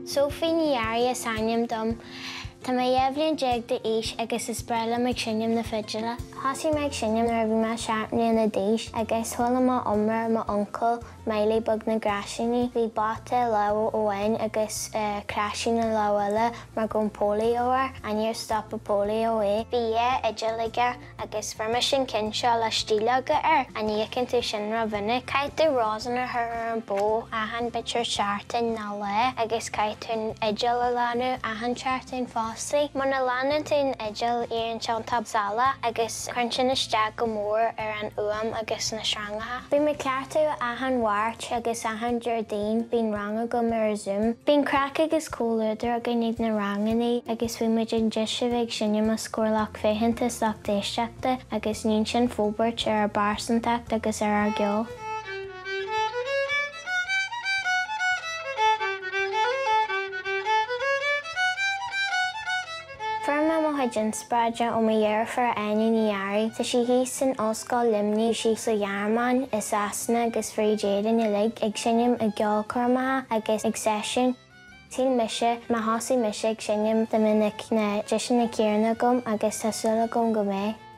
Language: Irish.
Sophie Ní Fhearraigh is ainm dom. Tá mé 12 bhliain d'aois agus is breá liom ag seinm na fidile. Thosaigh mé ag seinm nuair a bhí mé 7 mbliana d'aois agus chuala mé iomrá ar m'uncail, Miley Beag na gCraisíní. Bhí bata i lámh amháin agus craisín i lámh eile mar go raibh polio air, ach níor stop an polio é. Bhí dhá fhidil aige Agus fuair mise an ceann seo le stileoga air, an íocann tú sin ró-mhinic? Caithfidh tú rosin a chur ar an bó achan b'fhéidir seachtain nó lá agus caithfidh tú an fhidil a lánú achan seachtain fostaí. Muna lánann tú an fhidil éiríonn sé iontach salach agus cuireann sin isteach go mór ar an fhuaim agus na sreangacha. Bím ag cleachtadh achan Mháirt agus achan Déardaoin bíonn rang agam ar Zoom. Bíonn craic agus comhluadar againn ag na rangannaí agus bíonn muid an deis a bheith ag seinm os comhair lucht féachanta is lucht éisteachta agus níonn sin forbairt ar ár bpearsantacht agus ar ár gceol. Fuair mé mo chuid inspioráide ó mo dheirfiúr Áine Ní Fhearraigh. Tá sí thíos in Ollscoil Luimnigh, bhí sí sa Ghearmáin, i Sasana agus fríd Éirinn uilig ag seinm i gceolchoirmeacha agus ag seisiúin. Shíl mise, má thosaigh mise ag seinm dá mbeadh na deiseanna céanna agam agus tá súil agam go mbeidh.